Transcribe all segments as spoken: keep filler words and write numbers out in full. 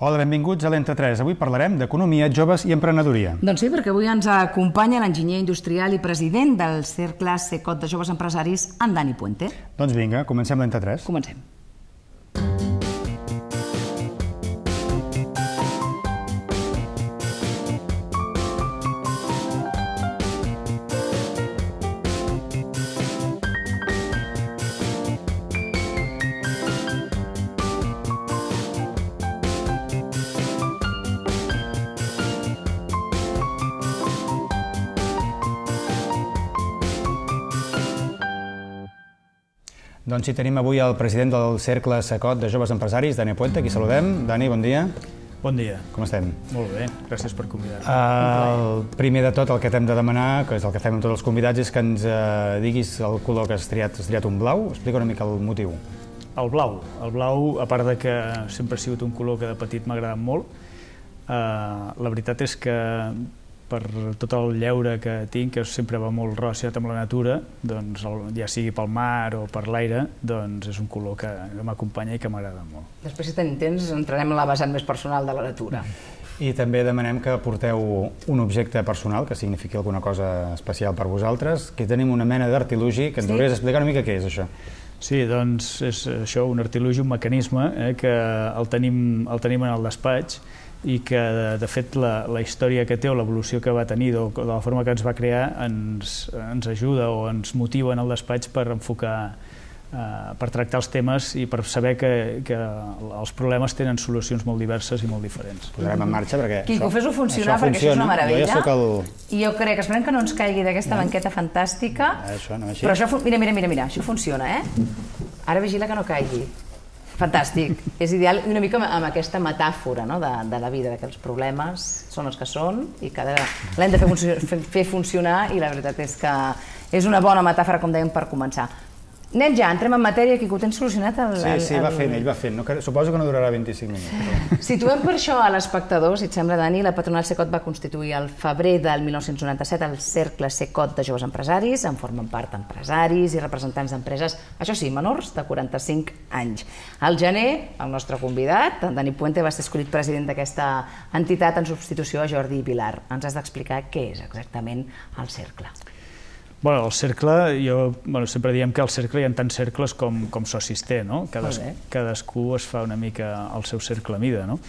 Hola, benvinguts a l'Entre tres. Avui parlarem d'economia, joves i emprenedoria. Doncs sí, perquè avui ens acompanya l'enginyer industrial i president del Cercle Secot de Joves Empresaris, en Dani Puente. Doncs vinga, comencem l'Entre tres. Comencem. Doncs sí, tenim avui el president del Cercle Secot de Joves Empresaris, Dani Puente, aquí saludem. Dani, bon dia. Bon dia. Com estem? Molt bé, gràcies per convidar-nos. El primer de tot, el que t'hem de demanar, que és el que fem amb tots els convidats, és que ens diguis el color que has triat. Has triat un blau? Explica una mica el motiu. El blau. El blau, a part de que sempre ha sigut un color que de petit m'ha agradat molt, la veritat és que per tot el lleure que tinc, que sempre va molt relacionat amb la natura, doncs ja sigui pel mar o per l'aire, doncs és un color que m'acompanya i que m'agrada molt. Després, si tenim temps, entrarem a la vessant més personal de la natura. I també demanem que porteu un objecte personal que signifiqui alguna cosa especial per vosaltres. Aquí tenim una mena d'artilugi que ens hauries d'explicar una mica què és això. Sí, doncs és això, un artilugi, un mecanisme que el tenim en el despatx i que, de fet, la història que té o l'evolució que va tenir o de la forma que ens va crear ens ajuda o ens motiva en el despatx per enfocar, per tractar els temes i per saber que els problemes tenen solucions molt diverses i molt diferents. Posarem en marxa perquè Quico, fes-ho funcionar perquè això és una meravella. I jo crec, esperem que no ens caigui d'aquesta banqueta fantàstica. Però això, mira, mira, mira, això funciona, eh? Ara vigila que no caigui. Fantàstic. És ideal una mica amb aquesta metàfora de la vida, que els problemes són els que són i que l'hem de fer funcionar i la veritat és que és una bona metàfora, com dèiem, per començar. Anem ja, entrem en matèria, que ho tens solucionat? Sí, sí, va fent, ell va fent. Suposo que no durarà vint-i-cinc minuts. Situem per això a l'espectador, si et sembla, Dani, la patronal Secot va constituir al febrer del mil nou-cents noranta-set el Cercle Secot de Joves Empresaris, en formen part empresaris i representants d'empreses, això sí, menors de quaranta-cinc anys. Al gener, el nostre convidat, en Dani Puente, va ser escollit president d'aquesta entitat en substitució a Jordi Vilar. Ens has d'explicar què és exactament el Cercle. Bé, el cercle, sempre diem que al cercle hi ha tants cercles com socis té, no? Cadascú es fa una mica el seu cercle a mida, no?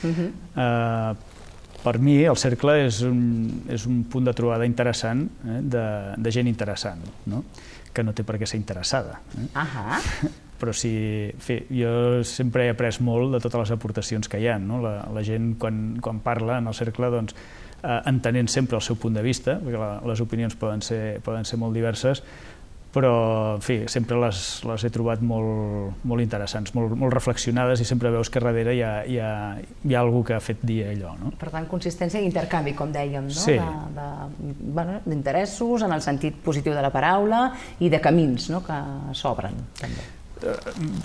Per mi el cercle és un punt de trobada interessant de gent interessant, que no té per què ser interessada. Però sí, jo sempre he après molt de totes les aportacions que hi ha. La gent, quan parla en el cercle, doncs, entenent sempre el seu punt de vista, perquè les opinions poden ser molt diverses, però, en fi, sempre les he trobat molt interessants, molt reflexionades i sempre veus que darrere hi ha algú que ha fet dir allò. Per tant, consistència i intercanvi, com dèiem, d'interessos, en el sentit positiu de la paraula i de camins que s'obren, també.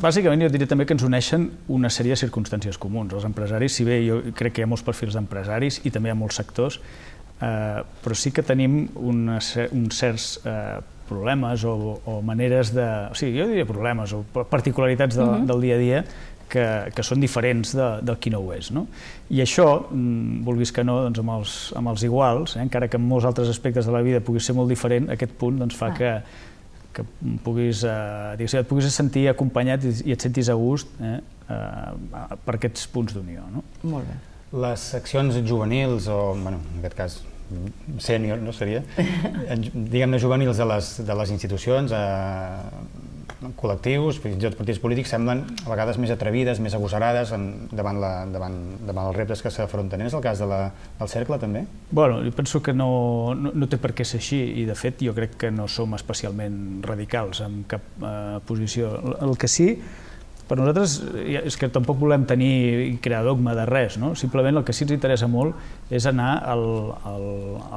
Bàsicament jo diria també que ens uneixen una sèrie de circumstàncies comuns. Els empresaris, si bé jo crec que hi ha molts perfils d'empresaris i també hi ha molts sectors, però sí que tenim uns certs problemes o maneres de... O sigui, jo diria problemes o particularitats del dia a dia que són diferents del qui no ho és. I això, vulguis que no, amb els iguals, encara que en molts altres aspectes de la vida pugui ser molt diferent, aquest punt fa que que et puguis sentir acompanyat i et sentis a gust per aquests punts d'unió. Molt bé. Les seccions juvenils, o en aquest cas sènior, no seria, diguem-ne juvenils de les institucions, col·lectius, fins i tot partits polítics, semblen a vegades més atrevides, més agosarades davant els reptes que s'afronten. És el cas del cercle, també? Bé, jo penso que no té per què ser així i, de fet, jo crec que no som especialment radicals en cap posició. El que sí, per nosaltres, és que tampoc volem tenir i crear dogma de res, simplement el que sí ens interessa molt és anar a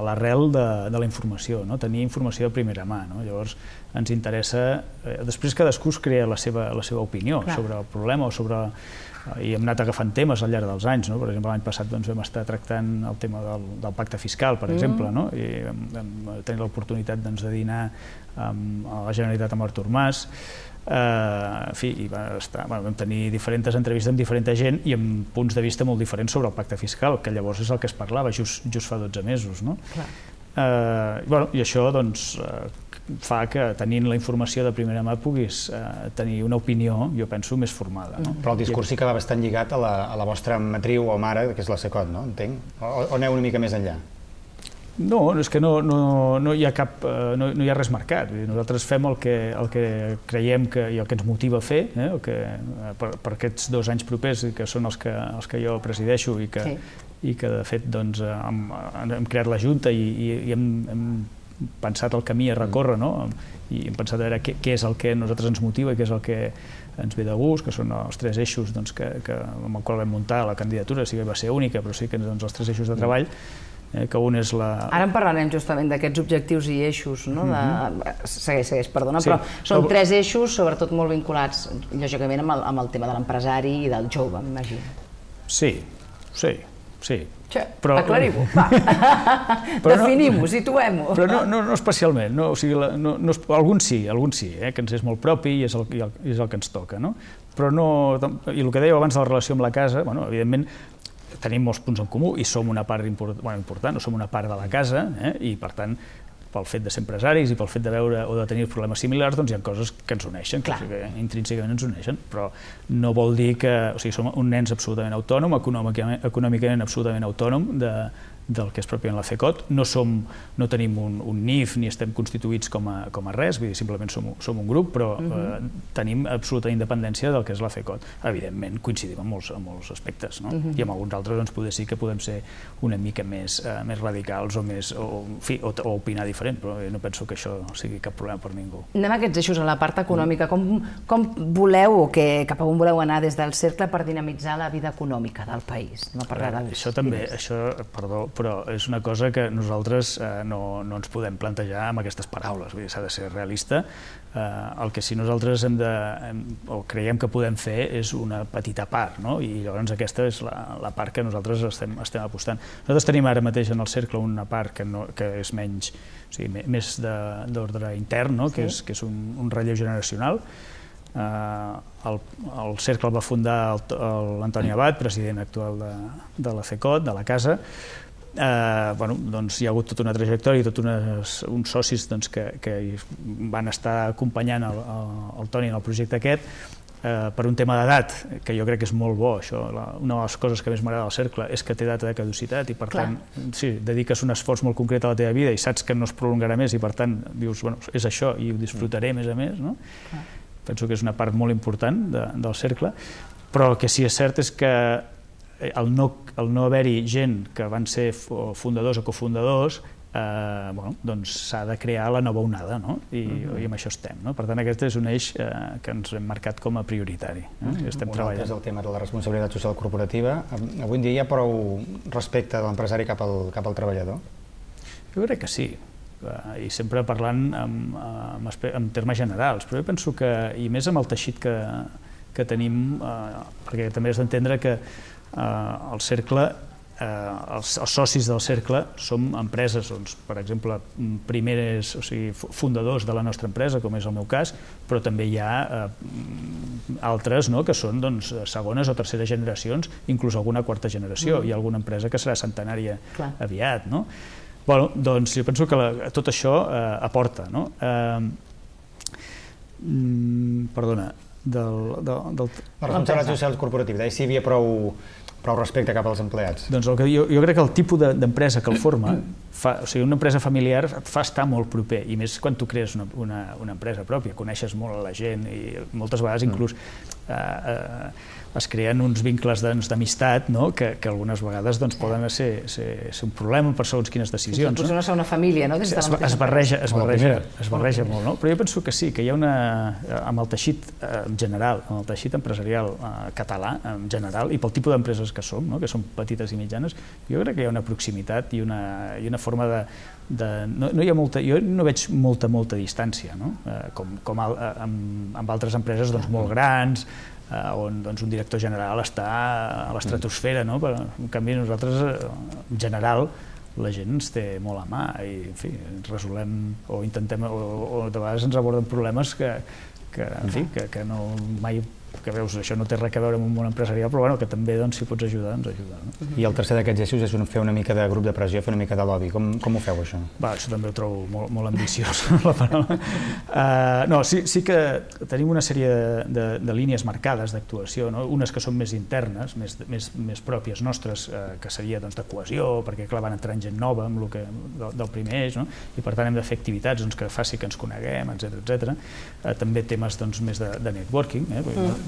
l'arrel de la informació, tenir informació de primera mà. Llavors ens interessa, després cadascú es crea la seva opinió sobre el problema o sobre... i hem anat agafant temes al llarg dels anys. Per exemple, l'any passat vam estar tractant el tema del pacte fiscal, per exemple, i vam tenir l'oportunitat de dinar a la Generalitat amb Artur Mas. en fi, vam tenir diferents entrevistes amb diferent gent i amb punts de vista molt diferents sobre el pacte fiscal, que llavors és el que es parlava just fa dotze mesos. I això fa que, tenint la informació de primera mà, puguis tenir una opinió, jo penso, més formada. Però el discurs sí que va bastant lligat a la vostra matriu o mare, que és la Cecot, no? Entenc? O aneu una mica més enllà? No, és que no hi ha cap, no hi ha res marcat. Nosaltres fem el que creiem i el que ens motiva a fer, per aquests dos anys propers, que són els que jo presideixo i que, de fet, hem creat la Junta i hem pensat el camí a recórrer, i hem pensat a veure què és el que a nosaltres ens motiva i què és el que ens ve de gust, que són els tres eixos amb els quals vam muntar la candidatura. Sí que va ser única, però sí que els tres eixos de treball, que un és la... Ara en parlarem justament d'aquests objectius i eixos, no? Segueix, segueix, perdona, però són tres eixos, sobretot molt vinculats, lògicament, amb el tema de l'empresari i del jove, m'imagino. Sí, sí, sí. Aclarim-ho, va, definim-ho, situem-ho. Però no especialment, alguns sí, alguns sí, que ens és molt propi i és el que ens toca, no? Però no, i el que dèieu abans de la relació amb la casa, evidentment, tenim molts punts en comú i som una part important, o som una part de la casa, i per tant, pel fet de ser empresaris i pel fet de veure o de tenir problemes similars, doncs hi ha coses que ens uneixen, que intrínsecament ens uneixen, però no vol dir que... O sigui, som un nens absolutament autònom, econòmicament absolutament autònom del que és pròpiament la Cecot. No tenim un N I F ni estem constituïts com a res, vull dir, simplement som un grup, però tenim absoluta independència del que és la Cecot. Evidentment, coincidim en molts aspectes, i en alguns altres doncs potser sí que podem ser una mica més radicals o opinar diferent, però no penso que això sigui cap problema per ningú. Anem a aquests eixos, a la part econòmica. Com voleu o cap a on voleu anar des del cercle per dinamitzar la vida econòmica del país? Això també, això, perdó, però és una cosa que nosaltres no ens podem plantejar amb aquestes paraules, vull dir, s'ha de ser realista. El que sí nosaltres hem de, o creiem que podem fer, és una petita part, i llavors aquesta és la part que nosaltres estem apostant. Nosaltres tenim ara mateix en el cercle una part que és menys, o sigui, més d'ordre intern, que és un relleu generacional. El cercle el va fundar l'Antoni Abad, president actual de la Cecot, de la casa. Hi ha hagut tota una trajectòria i tots uns socis que van estar acompanyant el Toni en el projecte aquest per un tema d'edat, que jo crec que és molt bo. Una de les coses que més m'agrada del cercle és que té data de caducitat i per tant dediques un esforç molt concret a la teva vida i saps que no es prolongarà més i per tant dius, és això i ho disfrutaré més a més. Penso que és una part molt important del cercle, però el que sí és cert és que el no haver-hi gent que van ser fundadors o cofundadors, doncs s'ha de crear la nova onada, i amb això estem. Per tant, aquest és un eix que ens hem marcat com a prioritari. Estem treballant. Un altre és el tema de la responsabilitat social corporativa. Avui en dia hi ha prou respecte de l'empresari cap al treballador? Jo crec que sí, i sempre parlant en termes generals, però jo penso que, i més amb el teixit que tenim, perquè també has d'entendre que el cercle, els socis del cercle som empreses, per exemple, primeres, o sigui, fundadors de la nostra empresa, com és el meu cas, però també hi ha altres que són segones o terceres generacions, inclús alguna quarta generació. Hi ha alguna empresa que serà centenària aviat. Bé, doncs jo penso que tot això aporta. Perdona, del... La responsabilitat social corporativa, si hi havia prou respecte cap als empleats. Doncs jo crec que el tipus d'empresa que el forma, o sigui, una empresa familiar et fa estar molt proper, i més quan tu crees una empresa pròpia, coneixes molt a la gent i moltes vegades inclús es creen uns vincles d'amistat que algunes vegades poden ser un problema per segons quines decisions. Potser no ser una família, no? Es barreja molt, però jo penso que sí, que hi ha una... amb el teixit general, amb el teixit empresarial català en general, i pel tipus d'empreses que som, que són petites i mitjanes, jo crec que hi ha una proximitat i una forma de... Jo no veig molta, molta distància, com amb altres empreses molt grans, on un director general està a l'estratosfera. En canvi, nosaltres, en general, la gent ens té molt a mà i, en fi, resolem o intentem, o de vegades ens aborden problemes que que, en fi, que, que no mai que veus, això no té res a veure amb un món empresarial, però bueno, que també, doncs, si pots ajudar, doncs ajuda. No? I el tercer d'aquests eixos és fer una mica de grup de pressió, fer una mica de lobby. Com, com ho feu, això? Va, això també ho trobo molt, molt ambiciós, la paraula. Uh, no, sí, sí que tenim una sèrie de, de, de línies marcades d'actuació, no? Unes que són més internes, més, més, més pròpies nostres, uh, que seria, doncs, de cohesió, perquè, clar, van entrar gent nova amb el que, del, del primer eix, no? I per tant hem de fer activitats, doncs, que faci que ens coneguem, etcètera, etcètera. Uh, també temes, doncs, més de, de networking, eh? Mm.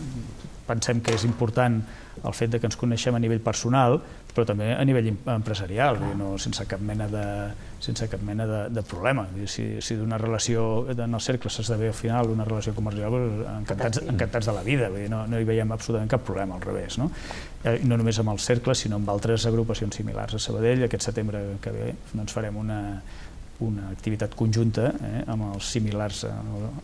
Pensem que és important el fet de que ens coneixem a nivell personal, però també a nivell empresarial, no, sense cap mena de, sense cap mena de, de problema. Si, si d'una relació en el cercle s'esdevé al final una relació comercial, encantats, encantats de la vida, vull dir, no, no hi veiem absolutament cap problema, al revés. No? I no només amb el cercle, sinó amb altres agrupacions similars a Sabadell. Aquest setembre que ve doncs farem una una activitat conjunta eh, amb els similars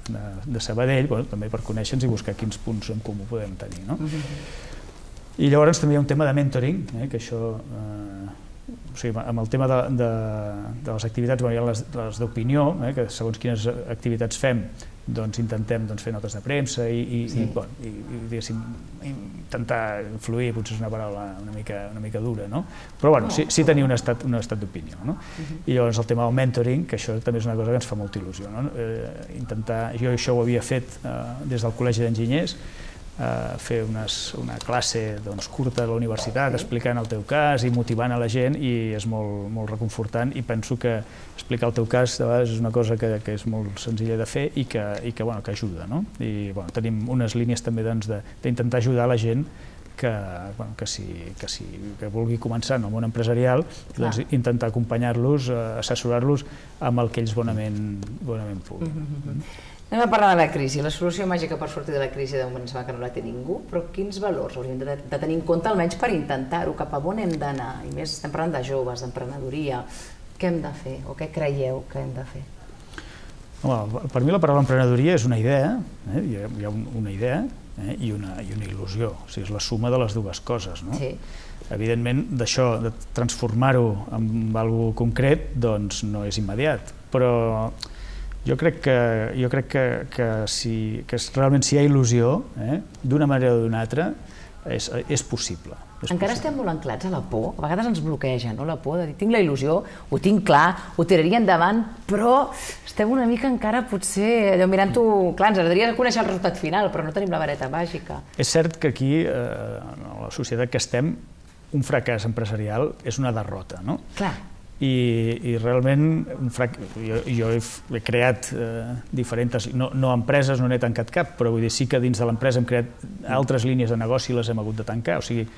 de, de Sabadell, bueno, també per conèixer-nos i buscar quins punts en comú podem tenir. No? Uh-huh. I llavors també hi ha un tema de mentoring, eh, que això, eh, o sigui, amb el tema de, de, de les activitats, bueno, hi ha les, les d'opinió, eh, que segons quines activitats fem, doncs intentem doncs, fer notes de premsa i, i, sí. i, bueno, i, i diguéssim, intentar influir, potser és una paraula una mica, una mica dura, no? Però bueno, sí, sí tenir un estat, un estat d'opinió, no? Uh-huh. I llavors el tema del mentoring, que això també és una cosa que ens fa molta il·lusió, no? Eh, intentar, jo això ho havia fet eh, des del Col·legi d'Enginyers, Uh, fer unes, una classe doncs, curta a la universitat explicant el teu cas i motivant a la gent, i és molt, molt reconfortant, i penso que explicar el teu cas de vegades és una cosa que, que és molt senzilla de fer i que, i que, bueno, que ajuda, no? I bueno, tenim unes línies també doncs, d'intentar ajudar la gent que, bueno, que, si, que, si, que vulgui començar en el món empresarial, doncs, intentar acompanyar-los, assessorar-los amb el que ells bonament, bonament puguin. Mm-hmm. Anem a parlar de la crisi. La solució màgica per sortir de la crisi de moment sembla que no la té ningú, però quins valors hauríem de, de tenir en compte almenys per intentar-ho, cap a on hem d'anar? I més estem parlant de joves, d'emprenedoria. Què hem de fer o què creieu que hem de fer? Home, per mi la paraula emprenedoria és una idea, eh? hi ha, hi ha una idea eh? I, una, i una il·lusió, o sigui, és la suma de les dues coses. No? Sí. Evidentment, d'això, de transformar-ho en alguna cosa concret, doncs no és immediat, però jo crec que, jo crec que, que, si, que realment si hi ha il·lusió, eh, d'una manera o d'una altra, és, és possible. És Encara possible. Estem molt anclats a la por, a vegades ens bloqueja, no? La por de dir, tinc la il·lusió, ho tinc clar, ho tiraria endavant, però estem una mica encara potser mirant-ho, clar, ens agradaria conèixer el resultat final, però no tenim la vareta màgica. És cert que aquí, eh, en la societat que estem, un fracàs empresarial és una derrota, no? Clar. I, i realment un frac... jo, jo he, he creat eh, diferents, no, no empreses, no n'he tancat cap, però vull dir, sí que dins de l'empresa hem creat altres línies de negoci i les hem hagut de tancar, o sigui,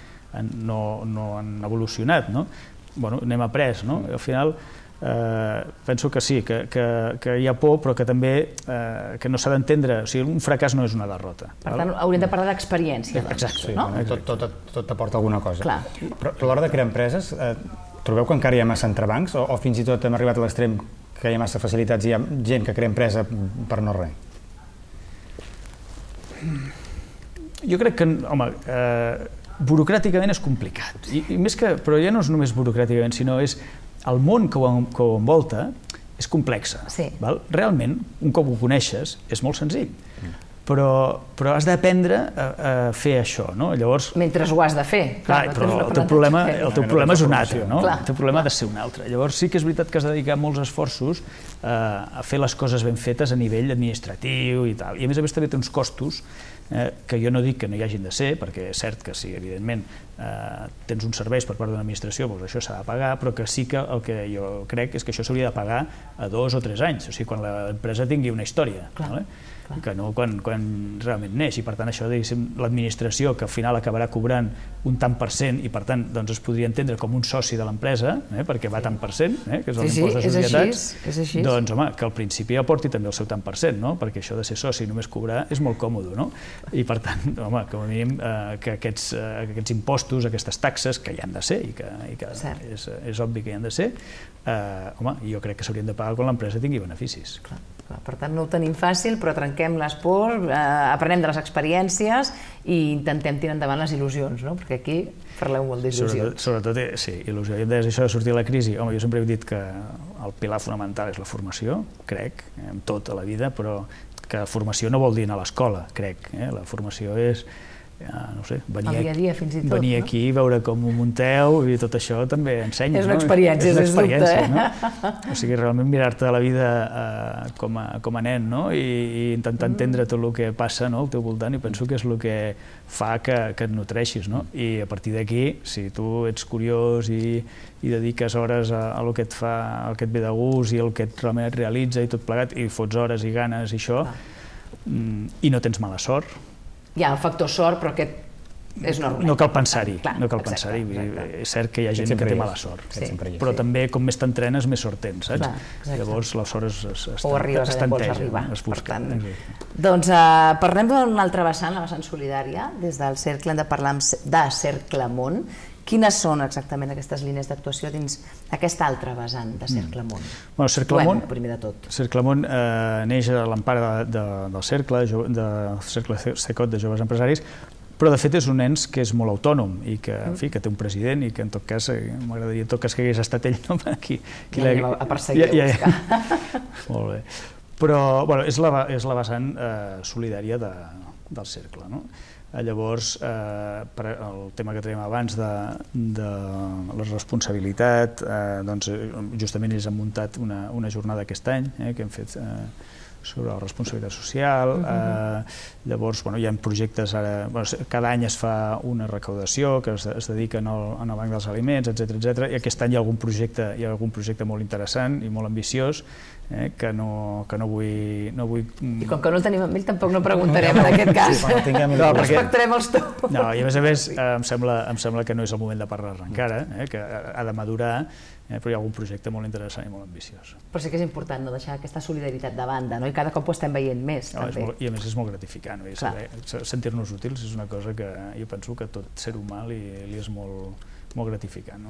no, no han evolucionat, no? Bueno, n'hem après, no? Al final eh, penso que sí, que, que, que hi ha por, però que també eh, que no s'ha d'entendre, o sigui, un fracàs no és una derrota. Per tant, hauríem de parlar d'experiència, doncs, exacte, no? Sí, tot, tot, tot t'aporta alguna cosa. Clar. Però, però a l'hora de crear empreses, eh, trobeu que encara hi ha massa entrebancs o, o fins i tot hem arribat a l'extrem que hi ha massa facilitats i hi ha gent que crea empresa per no res? Jo crec que, home, eh, burocràticament és complicat, I, i més que, però ja no és només burocràticament, sinó és el món que ho, que ho envolta és complexa. Sí. Val? Realment, un cop ho coneixes, és molt senzill. Mm. Però, però has d'aprendre a, a fer això, no? Llavors... Mentre ho has de fer. Clar, clar però el teu problema, el teu problema és un altre, no? Clar, el teu problema clar. ha de ser un altre. Llavors sí que és veritat que has de dedicar molts esforços eh, a fer les coses ben fetes a nivell administratiu i tal. I a més a més també té uns costos eh, que jo no dic que no hi hagin de ser, perquè és cert que sí, evidentment, eh, tens uns serveis per part d'una administració, doncs això s'ha de pagar, però que sí que el que jo crec és que això s'hauria de pagar a dos o tres anys, o sigui, quan l'empresa tingui una història. Clar. Vale? Que no quan, quan realment neix, i per tant això l'administració que al final acabarà cobrant un tant per cent i per tant doncs, es podria entendre com un soci de l'empresa, eh, perquè va tant per cent, eh, que és l'impost de societats, sí, és així, doncs home, que al principi aporti també el seu tant per cent, no? Perquè això de ser soci i només cobrar és molt còmode, no? I per tant, home, com a mínim eh, que aquests, eh, aquests impostos, aquestes taxes, que hi han de ser i que, i que és, és obvi que hi han de ser, eh, home, jo crec que s'haurien de pagar quan l'empresa tingui beneficis. Clar. Per tant, no ho tenim fàcil, però trenquem les pors, eh, aprenem de les experiències i intentem tirar endavant les il·lusions, no? Perquè aquí parleu molt d'il·lusions. Sobretot, sobretot, sí, il·lusió. I des d'això de sortir de la crisi, home, jo sempre he dit que el pilar fonamental és la formació, crec, en tot a la vida, però que formació no vol dir anar a l'escola, crec. La formació és, no sé, venir aquí, veure com ho munteu i tot això també ensenya. És una experiència, sens dubte. O sigui, realment mirar-te la vida com a nen i intentar entendre tot el que passa al teu voltant, i penso que és el que fa que et nutreixis. I a partir d'aquí, si tu ets curiós i dediques hores al que et fa, al que et ve de gust i el que realment et realitza i tot plegat, i fots hores i ganes i això, i no tens mala sort. Hi ha el factor sort, però aquest és normal. No cal pensar-hi, no cal pensar-hi. És cert que hi ha gent que té mala sort, però també com més t'entrenes, més sort tens, saps? Llavors la sort es tanteja, es busca. Doncs parlem d'una altra vessant, la vessant solidària. Des del Cercle hem de parlar de Cercle Món. Quines són exactament aquestes línies d'actuació dins aquesta altra vessant de Cercle Món? Cercle Món, primer de tot. Cercle Món neix a l'empara del Cercle, del Cercle Cecot de Joves Empresaris, però de fet és un ens que és molt autònom i que té un president i que en tot cas, m'agradaria en tot cas que hagués estat ell aquí. A perseguir, a buscar. Molt bé. Però és la vessant solidària del Cercle, no? Llavors, el tema que tenim abans de la responsabilitat, justament ells han muntat una jornada aquest any que hem fet sobre la responsabilitat social. Llavors, hi ha projectes, cada any es fa una recaudació que es dediquen al Banc dels Aliments, etcètera, i aquest any hi ha algun projecte molt interessant i molt ambiciós que no vull... I com que no el tenim amb ell, tampoc no preguntarem en aquest cas. Respectarem els teus. No, i a més a més, em sembla que no és el moment de parlar-ne encara, que ha de madurar, però hi ha algun projecte molt interessant i molt ambiciós. Però sí que és important no deixar aquesta solidaritat de banda, i cada cop ho estem veient més, també. I a més és molt gratificant, sentir-nos útils és una cosa que jo penso que tot ser humà li és molt gratificant.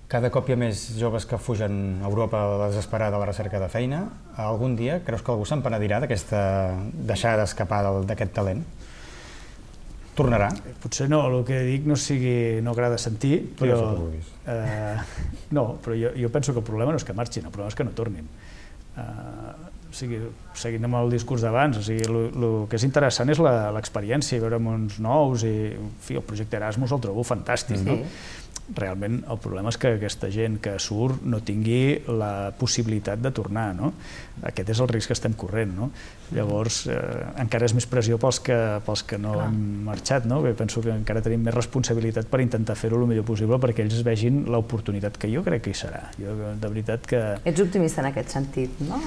Cada cop hi ha més joves que fugen a Europa a la desesperada a la recerca de feina. Algun dia creus que algú se'n penedirà d'aquesta deixada d'escapar d'aquest talent? Tornarà? Potser no, el que dic no sigui, no agrada sentir, però... No, però jo penso que el problema no és que marxin, el problema és que no tornin. O sigui, seguint amb el discurs d'abans, el que és interessant és l'experiència, veure mons nous i, en fi, el projecte Erasmus el trobo fantàstic, no? Realment el problema és que aquesta gent que surt no tingui la possibilitat de tornar, no? Aquest és el risc que estem corrent, no? Llavors encara és més pressió pels que no han marxat, no? Penso que encara tenim més responsabilitat per intentar fer-ho el millor possible perquè ells vegin l'oportunitat que jo crec que hi serà. Jo, de veritat que... Ets optimista en aquest sentit, no?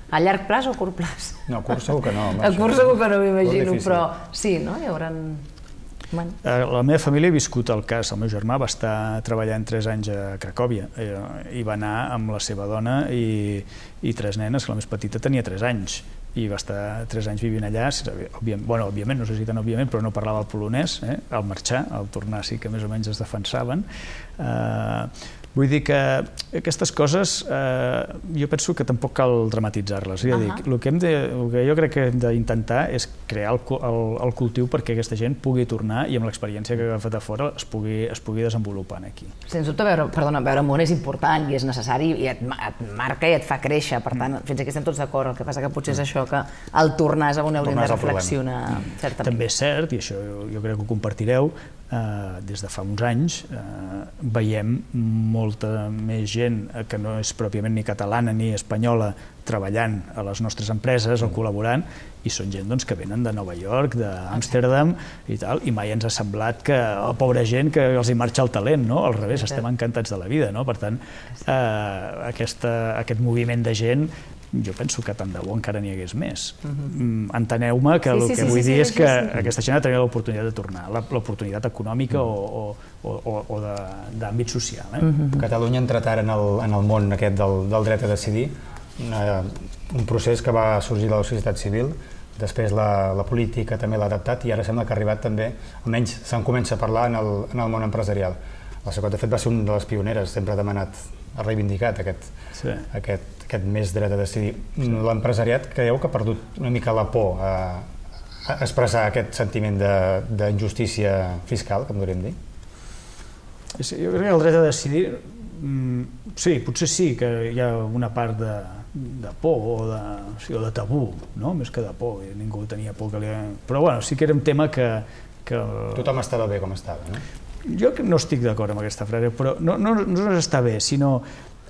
A llarg plaç o a curt plaç? No, a curt segur que no. A curt segur que no m'imagino, però sí, no? Hi haurà... La meva família ha viscut el cas. El meu germà va estar treballant tres anys a Cracòvia i va anar amb la seva dona i tres nenes, que la més petita tenia tres anys i va estar tres anys vivint allà. Bueno, òbviament, no sé si tan òbviament, però no parlava el polonès. Al marxar, al tornar sí que més o menys es defensaven. Vull dir que aquestes coses jo penso que tampoc cal dramatitzar-les. El que jo crec que hem d'intentar és crear el cultiu perquè aquesta gent pugui tornar i amb l'experiència que ha agafat a fora es pugui desenvolupar aquí. Sens dubte, veure món és important i és necessari i et marca i et fa créixer. Per tant, fins aquí estem tots d'acord. El que passa que potser és això, que al tornar és on hauríem de reflexionar. També és cert, i això jo crec que ho compartireu, des de fa uns anys veiem molta més gent que no és pròpiament ni catalana ni espanyola treballant a les nostres empreses o col·laborant, i són gent que venen de Nova York, d'Amsterdam i tal, i mai ens ha semblat que, oh, pobra gent, que els hi marxa el talent, no? Al revés, estem encantats de la vida, no? Per tant, aquest moviment de gent jo penso que tant de bo encara n'hi hagués més. Enteneu-me que el que vull dir és que aquesta gent ha de tenir l'oportunitat de tornar, l'oportunitat econòmica o d'àmbit social. Catalunya ha entrat ara en el món aquest del dret a decidir, un procés que va sorgir de la societat civil, després la política també l'ha adaptat i ara sembla que ha arribat també, almenys se'n comença a parlar en el món empresarial. La Cecot, de fet, va ser una de les pioneres, sempre ha demanat, ha reivindicat aquest més dret a decidir. L'empresariat creieu que ha perdut una mica la por a expressar aquest sentiment d'injustícia fiscal, que em podríem dir? Jo crec que el dret a decidir, sí, potser sí que hi ha una part de por o de, sí, o de tabú, no? Més que de por, ningú tenia por que li... Però bueno, sí que era un tema que... que... Tothom estava bé com estava, no? Jo no estic d'acord amb aquesta frase, però no, no, no està bé, sinó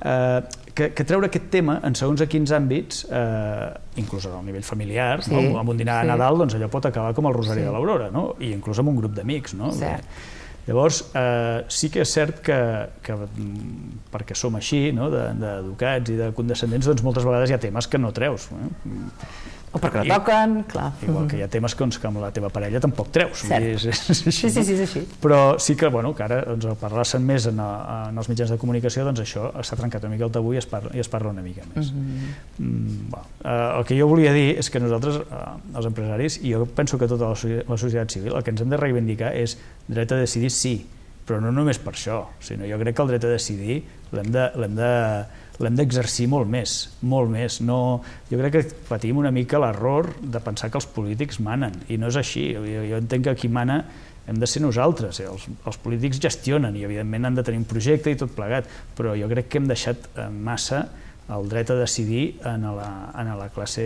eh, que, que treure aquest tema en segons a quins àmbits, eh, inclús al nivell familiar, sí, no? Amb un dinar sí. a Nadal, doncs allò pot acabar com el Rosari sí. de l'Aurora, no? I inclús amb un grup d'amics, no? Cert. Llavors, eh, sí que és cert que, que perquè som així, no? d'educats de, i de condescendents, doncs moltes vegades hi ha temes que no treus. Eh? O perquè no toquen, clar. Igual que hi ha temes que, que amb la teva parella tampoc treus. Cert. És, és, és així, sí, sí, sí, és així. Però sí que, bueno, que ara doncs, parlar-se'n més en, en els mitjans de comunicació, doncs això s'ha trencat una mica el tabú i es parla, i es parla una mica més. Mm-hmm. mm, bueno, eh, el que jo volia dir és que nosaltres, eh, els empresaris, i jo penso que tota la, la societat civil, el que ens hem de reivindicar és dret a decidir sí, però no només per això, sinó jo crec que el dret a decidir l'hem de, l'hem de l'hem d'exercir molt més, molt més. No, jo crec que patim una mica l'error de pensar que els polítics manen, i no és així. Jo, jo entenc que qui mana hem de ser nosaltres. Els, els polítics gestionen i evidentment han de tenir un projecte i tot plegat, però jo crec que hem deixat massa el dret a decidir en la, en la classe,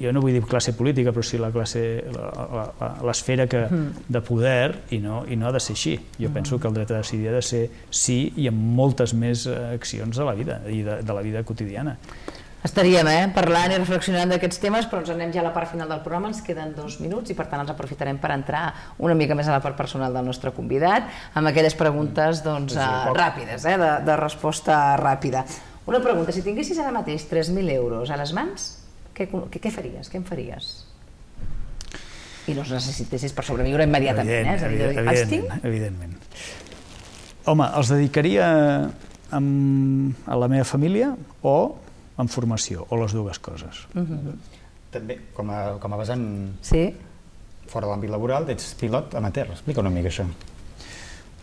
jo no vull dir classe política, però sí la classe, l'esfera de poder, i no, i no ha de ser així. Jo penso que el dret a decidir ha de ser sí i amb moltes més accions de la vida i de, de la vida quotidiana. Estaríem eh, parlant i reflexionant d'aquests temes, però ens anem ja a la part final del programa, ens queden dos minuts i per tant els aprofitarem per entrar una mica més a la part personal del nostre convidat, amb aquelles preguntes doncs, eh, ràpides, eh, de, de resposta ràpida. Una pregunta, si tinguessis ara mateix tres mil euros a les mans, què, què, què faries? Què en faries? I no els necessitessis per sobreviure immediatament, eh? És a dir, els tinc? Evidentment. Home, els dedicaria amb, a la meva família o en formació, o les dues coses. Uh-huh. També, com a, com a vessant sí. fora de l'àmbit laboral, ets pilot amateur. Explica una mica això.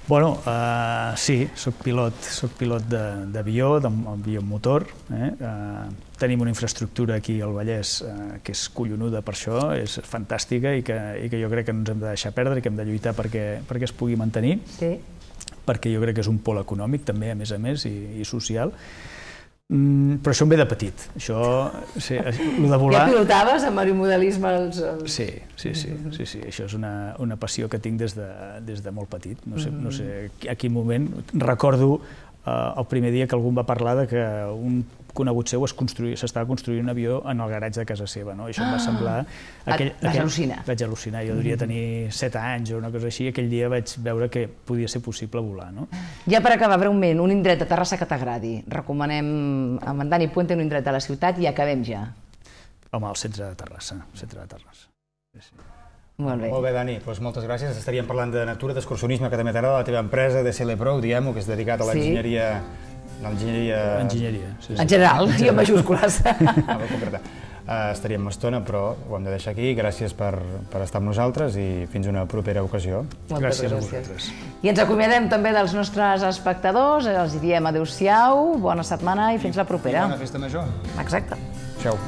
Bueno, uh, sí, soc pilot, soc pilot d'avió, d'avió motor. Eh? Uh, tenim una infraestructura aquí al Vallès uh, que és collonuda per això, és fantàstica i que, i que jo crec que no ens hem de deixar perdre i que hem de lluitar perquè, perquè es pugui mantenir, sí. perquè jo crec que és un pol econòmic també, a més a més, i, i social. Mm, però això em ve de petit. Això, sí, lo de volar... Ja pilotaves amb aeromodelisme? Els... Sí, sí, sí, sí, sí. Això és una, una passió que tinc des de, des de molt petit. No sé, no sé a quin moment. Recordo eh, el primer dia que algú em va parlar de que un conegut seu s'estava construint un avió en el garatge de casa seva. No? I això em va semblar... Aquell, Vas aquell, al·lucinar. Vaig al·lucinar. Jo devia tenir set anys o una cosa així, i aquell dia vaig veure que podia ser possible volar. No? Ja per acabar, breument, un indret de Terrassa que t'agradi. Recomanem amb en Dani Puente un indret de la ciutat i acabem ja. Home, el centre de Terrassa. El centre de Terrassa. Sí, sí. Molt bé. Molt bé, Dani, doncs moltes gràcies. Estaríem parlant de natura, d'excursionisme, que també t'agrada, la teva empresa, D S L Pro, diguem-ho, que és dedicat a l'enginyeria... L'enginyeria... Enginyeria, sí, sí. En general, i en majúscules. Ah, uh, estaríem una estona, però ho hem de deixar aquí. Gràcies per, per estar amb nosaltres i fins una propera ocasió. Moltes gràcies a vosaltres. I ens acomiadem també dels nostres espectadors, els diem adeu-siau, bona setmana i fins la propera. I bona festa major. Exacte. Ciao.